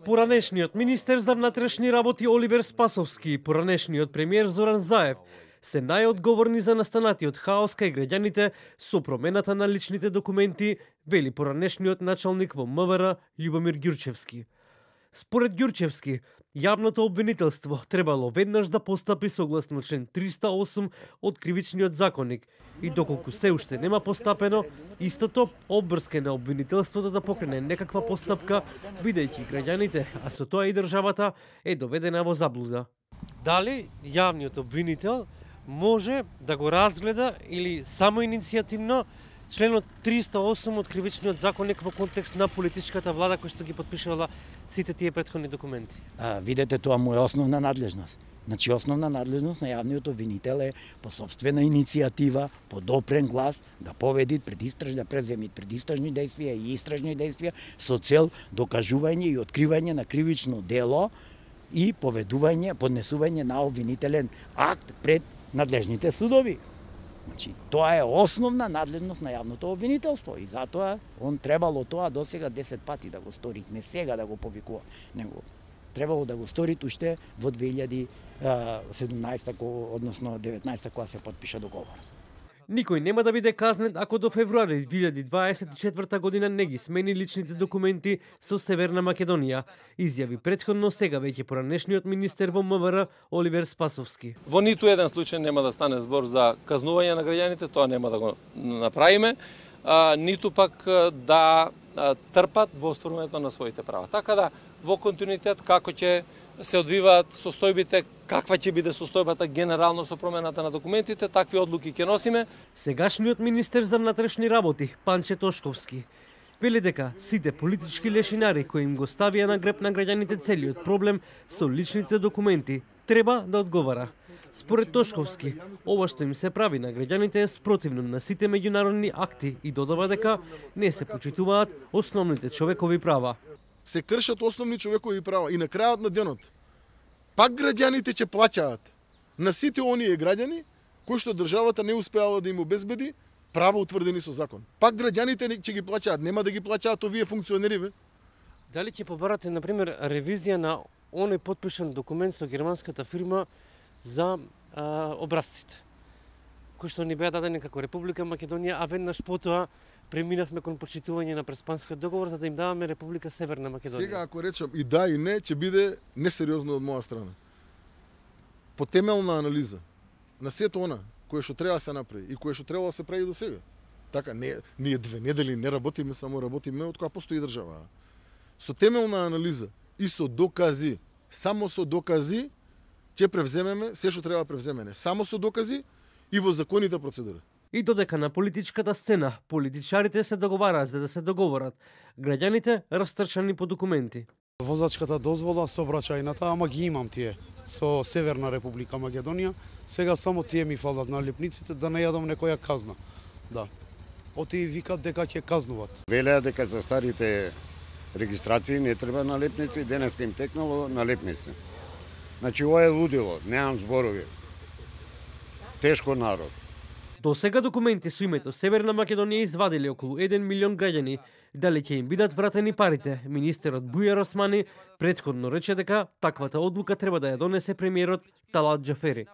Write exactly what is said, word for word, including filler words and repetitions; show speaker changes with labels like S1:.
S1: Поранешниот министер за внатрешни работи Оливер Спасовски и поранешниот премиер Зоран Заев се најодговорни за настанатиот хаос кај граѓаните со промената на личните документи, вели поранешниот началник во МВР Љубомир Ѓурчевски. Според Ѓурчевски, јавното обвинителство требало веднаш да постапи согласно член триста и осум од Кривичниот законник и доколку се уште нема постапено, истото обврска на обвинителството да покрене некаква постапка, бидејќи граѓаните, а со тоа и државата, е доведена во заблуда. Дали јавниот обвинител може да го разгледа или само иницијативно членот триста и осум од Кривичниот законник во контекст на политичката влада која што ги подпишала сите тие претходни документи?
S2: А, видете, тоа му е основна надлежност. Значи, основна надлежност на јавниот обвинител е по собствена иницијатива, по допрен глас, да поведи предистражни, да преземи предистражни действија и истражни действија со цел докажување и откривање на кривично дело и поведување, поднесување на обвинителен акт пред надлежните судови. Значи, тоа е основна надлежност на јавното обвинителство и затоа он требало тоа досега десет пати да го стори, не сега да го повикува, него требало да го стори уште во две илјади и седумнаесета, односно деветнаесета, кога се потпиша договор.
S1: Никој нема да биде казнет ако до февруари две илјади дваесет и четврта година не ги смени личните документи со Северна Македонија, изјави претходно сега веќе поранешниот министер во МВР Оливер Спасовски.
S3: Во ниту еден случај нема да стане збор за казнување на граѓаните, тоа нема да го направиме, а, ниту пак да а, трпат во остварувањето на своите права. Така да, во континуитет како ќе се одвиваат состојбите, каква ќе биде состојбата генерално со промената на документите, такви одлуки ќе носиме.
S1: Сегашниот министер за внатрешни работи, Панче Тошковски, вели дека сите политички лешинари кои им го ставија на греб на граѓаните целиот проблем со личните документи треба да одговара. Според Тошковски, ова што им се прави на граѓаните е спротивно на сите меѓународни акти и додава дека не се почитуваат основните човекови права.
S4: Се кршат основни човекови права и на крајот на денот пак граѓаните ќе плаќаат на сите оние граѓани кои што државата не успеала да им обезбеди права утврдени со закон. Пак граѓаните ќе ги плаќаат, нема да ги плаќаат овие функционери, бе.
S1: Дали ќе побарате на пример ревизија на оној потпишан документ со германската фирма за а, образците, кои што ни беа дадени како Република Македонија, а веднаш потоа преминавме кон почитување на Преспанскиот договор за да им даваме Република Северна Македонија.
S4: Сега ако речам и да и не, ќе биде несериозно од моја страна. По темелна анализа на сето она кое што треба да се направи и кое што требало да се прави до сега. Така не ние две недели не работиме, само работиме од кога постои држава. Со темелна анализа и со докази, само со докази ќе превземеме се што треба да превземеме. Само со докази и во законите процедури.
S1: И додека на политичката сцена политичарите се договараат за да се договорат, граѓаните растрчани по документи.
S5: Возачката дозвола, сообраќајната, ама ги имам тие со Северна Република Македонија. Сега само тие ми фалат на лепниците да не јадам некоја казна. Да. Оти викат дека ќе казнуват.
S6: Велеа дека за старите регистрации не треба на лепници, денеска им текнало на лепници. Значи ова е лудило, немам зборови. Тешко народ.
S1: До сега документи со името Северна Македонија извадиле околу еден милион граѓани. Дали ќе им бидат вратени парите? Министерот Бујар Османи претходно рече дека таквата одлука треба да ја донесе премиерот Талат Џафери.